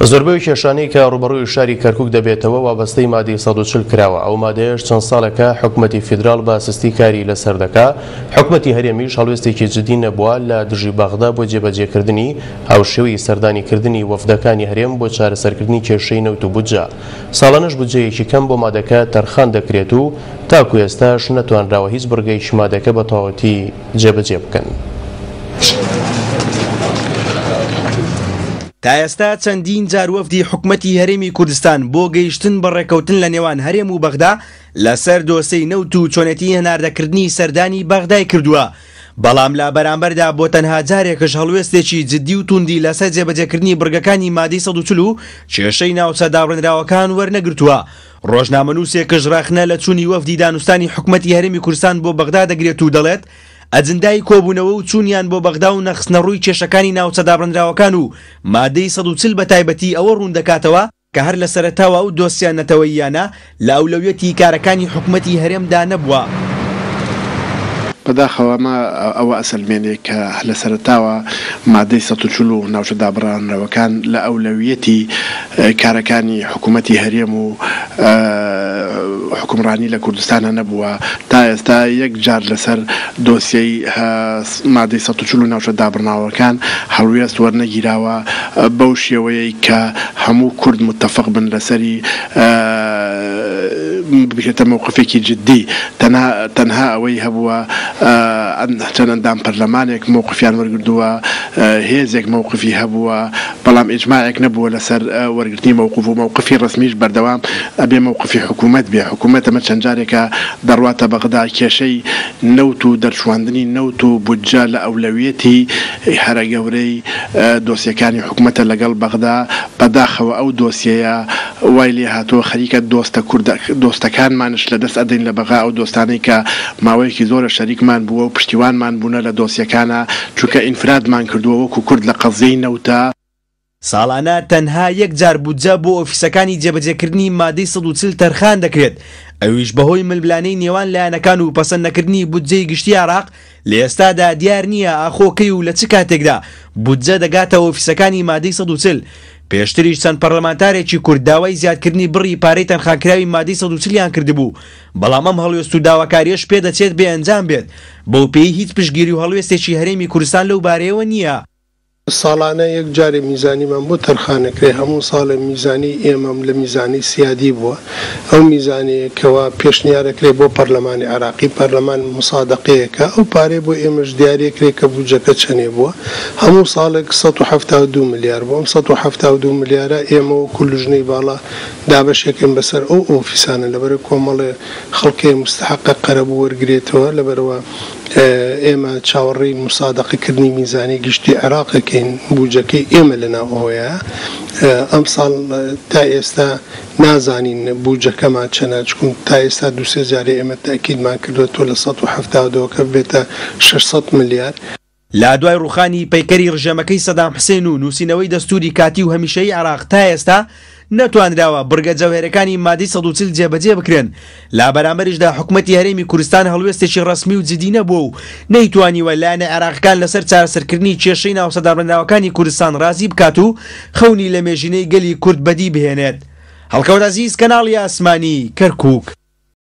زۆربەی کێشانەی کە ڕووبەڕووی شاری کەرکوک دەبێتەوە وابەستەی مادەی 140 کراوە، ئەو مادەیەش چەند ساڵێکە حکومەتی فیدراڵ بە سستی کاری لەسەر دەکا، حکومەتی هەرێمیش هەڵوێستێکی جدی نەبووە لە دژی بەغدا بۆ جێبەجێکردنی هاوشێوەی سەردانیکردنی وەفدەکانی هەرێم بۆ چارەسەرکردنی کێشەی نەوت و بودجە. ساڵانەش بودجەیەکی کەم بۆ مادەکە تەرخان دەکرێت و تاکو ئێستاش نەتوانراوە هیچ بڕگەیەکی مادەکە بە تەواوەتی جێبەجێ بکەن. تا ئێستا چەندین جار وەفدی حکومەتی هەرێمی کوردستان بۆ گەیشتن بە ڕێککەوتن لە نێوان هەرێم و بەغدا لەسەر دۆسێی نەوت و چۆنێتی هەناردەکردنی سەردانی بەغدای کردووە، بەڵام لە بەرامبەردا بۆ تەنها جارێکش هەڵوێستێکی جدی و توندی لەسەر جێبەجێکردنی بڕگەکانی مادەی 140 و کێشەی ناوچە دابڕێنراوەکان وەرنەگرتووە. ڕۆژنامەنووسێکش ڕەخنە لە چوونی وەفدی دانوستانی حکومەتی هەرێمی کوردستان بۆ بەغدا دەگرێت و دەڵێت، ئەجندای کۆبوونەوە و چوونیان بۆ بەغدا و نەخستنەڕووی کێشەکانی ناوچە دابڕێنراوەکان و مادەی 140 بەتایبەتی ئەوە ڕوون دەکاتەوە کە هەر لە سەرەتاوە ئەو دۆسیە نەتەوەییانە لە ئەولەویەتی کارەکانی حکومەتی هەرێمدا نەبووە. بەداخەوە ئەمە ئەوە ئەسەلمێنێ کە لە سەرەتاوە مادەی 140 و ناوچە دابڕانراوەکان لە ئەولەویەتی کارەکانی حکومەتی هەرێم و حوکمڕانی لە کوردستانا نەبووە، تا ئێستا یەک جار لەسەر دۆسیەی مادەی 140 و ناوچە دابڕناوەکان هەڵوێست وەرنەگیراوە بەو شێوەیەی کە هەموو کورد متەفق بن لەسەری بکرێتە مەوقفێکی جدی تەنها تەنها ئەوەی هەبووە چەند ئەندام پەرلەمانێک مەوقفیان وەرگردووە هێزێک مەوقفی هەبووە بەڵام ئیجماعێک نەبووە لەسەر وەرگرتنی مەوقف و مەوقفی ڕەسمیش بەردەوام ئەبێ مەوقفی حکوومەت بێ حکوومەت ئەمە چەند جارێکە دەڕواتە بەغدا کێشەی نەوت و دەرچوواندنی نەوت و بودجە لە ئەولەویەتی هەرە گەورەی دۆسیەکانی حکومەتە لەگەڵ بەغدا، بەداخەوە ئەو دۆسیەیە وای لێهاتووە خەریکە دۆستە کوردە دۆستەکانمانش لەدەست ئەدەین لە بەغا ئەو دۆستانەی کە ماوەیەکی زۆرە شەریکمان بووە و پشتیوانمان بوونە لە دۆسیەکانا چونکە ئینفرادمان کردووە وەکو کورد لە قەزیەی نەوتا. ساڵانە تەنها یەک جار بودجە بۆ ئۆفیسەکانی جێبەجێکردنی مادەی 140 تەرخان دەکرێت، ئەویش بەهۆی ململانێی نێوان لایەنەکان و پەسەند نەکردنی بودجەی گشتی عێراق، لە ئێستادا دیار نییە ئاخۆ کەی و لە چ کاتێکدا بودجە دەگاتە ئۆفیسەکانی مادەی 140. پێشتریش چەند پەرلەمانتارێکی کورد داوای زیادکردنی بڕی پارەی تەرخانکراوی مادەی 140 یان کردبوو، بەڵام ئەم هەڵوێست و داواکارییەش پێدەچێت بێ ئەنجام بێت، بەوپێیەی هیچ پشتگیری و هەڵوێستێکی هەرێمی کوردستان لەو بارەیەوە نییە. ساڵانە یەک جارێ میزانیمان بۆ تەرخان ئەکرێ، هەموو ساڵێ میزانی ئێمەم لە میزانی سیادی بووە، ئەو میزانەیە کەوا پێشنیار ئەکرێ بۆ پەرلەمانی عێراقی، پەرلەمان موسادەقەی ئەکا، ئەو پارەیە بۆ ئێمەش دیاری ئەکرێ کە بودجەکە چەنێ بووە، هەموو ساڵێک 172 ملیار بووە، ئەم 172 ملیارە ئێمە وەکو لوجنەی باڵا دابەشی ئەکەین بەسەر ئەو ئۆفیسانە، لەبەرئ کۆمەڵێ خەڵک هەیە موستەحەقە قەرەبوو وەرگرێتەوە، لەبەرئەوە. ئێمە چاوەڕێی موسادەقە کردنی میزانی گشتی عێراق ئەکەین، بوجەکەی ئێمە لەناو ئەوەیە، ئەمساڵ تا ئێستا نازانین بوجەکەمان چەنە، چکون تا ئێستا دوو سێ جارێ ئێمە تەئکیدمان کردوە تۆ لە 172 کە ببێتە 600 ملیار. لە دوای ڕووخانی پەیکەری ڕژێمەکەی سەدام حسێن و نووسینەوەی دەستووری کاتی و هەمیشەیی عێراق تا ئێستا نەتوانراوە بڕگە جەوهەرەکانی مادەی 140 جێبەجێ بکرێن، لە بەرامبەریشدا حکومەتی هەرێمی کوردستان هەڵوێستێکی ڕەسمی و جدی نەبووە و نەیتوانیوە لایەنە عێراقیەکان لەسەر چارەسەرکردنی کێشەی ناوچە دابڕێنراوەکانی کوردستان ڕازی بکات و خەونی لەمێژینەی گەلی کورد بەدی بهێنێت. هەڵکەوت عەزیز، کەناڵی ئاسمانی، کەرکوک.